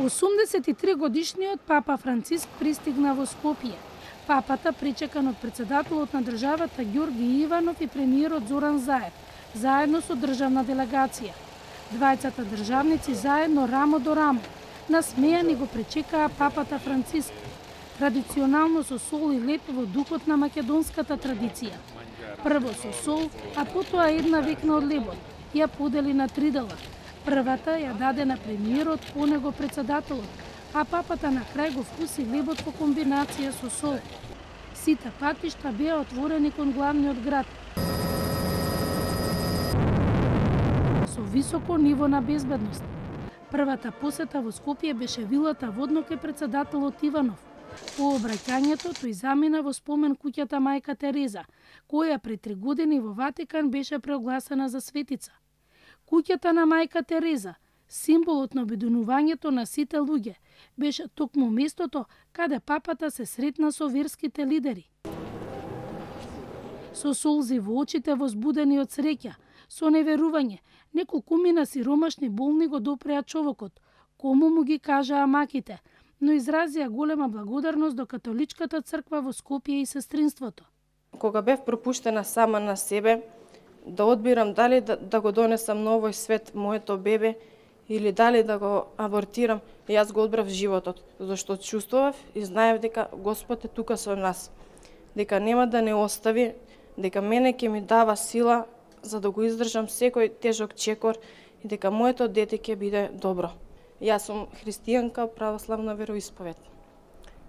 83-годишниот папа Франциск пристигна во Скопје. Папата, причекан од председателот на државата Ѓорги Иванов и премиерот Зоран Заев, заедно со државна делегација. Двајцата државници заедно рамо до рамо, насмејани го пречекаа папата Франциск, традиционално со сол и леп во духот на македонската традиција. Прво со сол, а потоа една векна од лебот, ја подели на 3 дела. Првата ја даде на премиерот, по него председателот, а папата на крај го вкуси лебот во комбинација со сол. Сите патишта беа отворени кон главниот град, со високо ниво на безбедност. Првата посета во Скопје беше вилата во одноке председателот Иванов. По обраќањето тој замина во спомен куќата Мајка Тереза, која пред 3 години во Ватикан беше преогласена за светица. Куќата на Мајка Тереза, символот на обединувањето на сите луѓе, беше токму местото каде папата се сретна со верските лидери. Со солзи во очите, возбудени од среќа, со неверување, неколкумина сиромашни болни го допреа човекот, кому му ги кажаа маките, но изразија голема благодарност до католичката црква во Скопје и сестринството. Кога бев пропуштена сама на себе, да одбирам дали да го донесам на овој свет моето бебе или дали да го абортирам, јас го одбрав животот, зашто чувствував и знаев дека Господ е тука со нас, дека нема да не остави, дека мене ќе ми дава сила за да го издржам секој тежок чекор и дека моето дете ќе биде добро. Јас сум христијанка, православна вероисповед.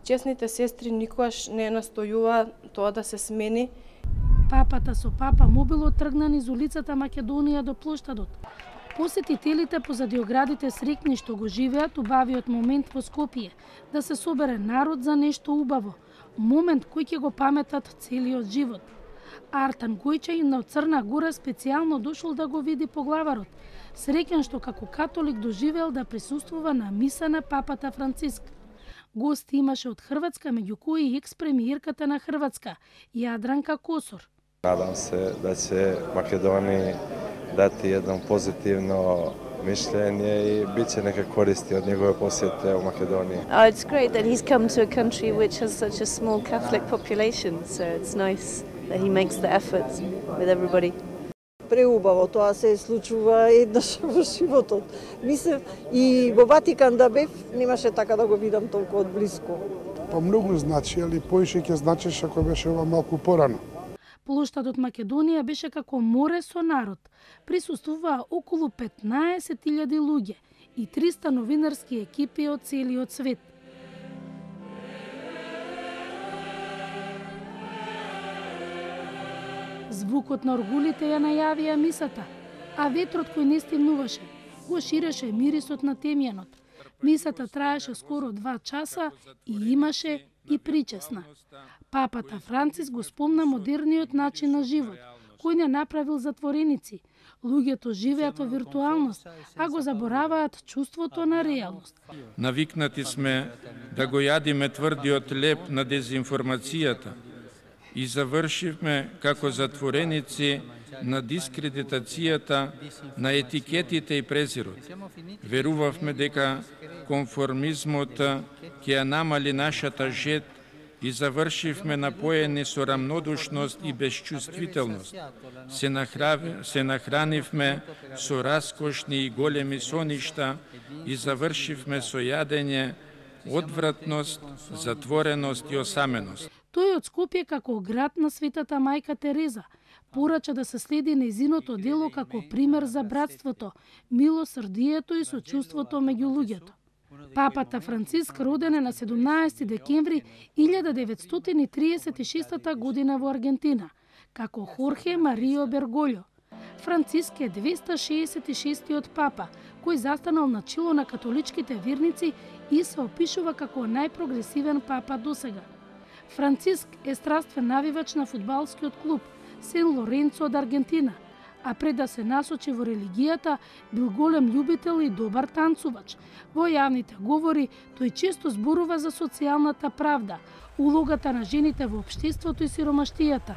Чесните сестри никогаш не настојуваа тоа да се смени. Папата со папа мобилот тргна низ улицата Македонија до плоштадот. Посетителите позади оградите срекни што го живеат убавиот момент во Скопје, да се собере народ за нешто убаво, момент кој ќе го паметат целиот живот. Артан Гојчајин од Црна Гора специјално дошол да го види поглаварот, среќен што како католик доживеал да присуствува на миса на папата Франциск. Гости имаше од Хрватска, меѓу кои и екс-премиерката на Хрватска, Јадранка Косор. Надам се да ќе Македонија дати едно позитивно мишљење и биće нека користи од негове посете у Македонија. It's great that he's come to a country which has such a small Catholic population, so it's nice that he makes the effort with everybody. Преубаво, тоа се случува еднаш во животот. Мислев и во Ватикан да бев, немаше така да го видам толку од блиско. Па многу значи, али поише ќе значеше ако беше ова малку порано. Плоштадот Македонија беше како море со народ. Присуствуваа околу 15.000 луѓе и 300 новинарски екипи од целиот свет. Звукот на оргулите ја најавија мисата, а ветрот кој не стемнуваше, го ширеше мирисот на темјанот. Мисата траеше скоро 2 часа и имаше и причесна. Папата Франциск го спомна модерниот начин на живот, кој не направил затвореници. Луѓето живеат во виртуалност, а го забораваат чувството на реалност. Навикнати сме да го јадиме тврдиот леп на дезинформацијата и завршивме како затвореници на дискредитацијата на етикетите и презирот. Верувавме дека конформизмот ќе ја намали нашата жет и завршивме напоени со рамнодушност и безчувствителност. Се нахранивме со раскошни и големи соништа и завршивме со јадење, одвратност, затвореност и осаменост. Тој од Скопје како град на Светата Мајка Тереза порача да се следи нејзиното дело како пример за братството, милосрдието и сочувството меѓу луѓето. Папата Франциск роден е на 17 декември 1936 година во Аргентина, како Хорхе Марио Берголјо. Франциск е 266-тиот папа, кој застанал на чело на католичките верници и се опишува како најпрогресивен папа досега. Франциск е страствен навивач на фудбалскиот клуб Сен Лоренцо од Аргентина, а пред да се насочи во религијата, бил голем љубител и добар танцувач. Во јавните говори, тој често зборува за социјалната правда, улогата на жените во општеството и сиромаштијата.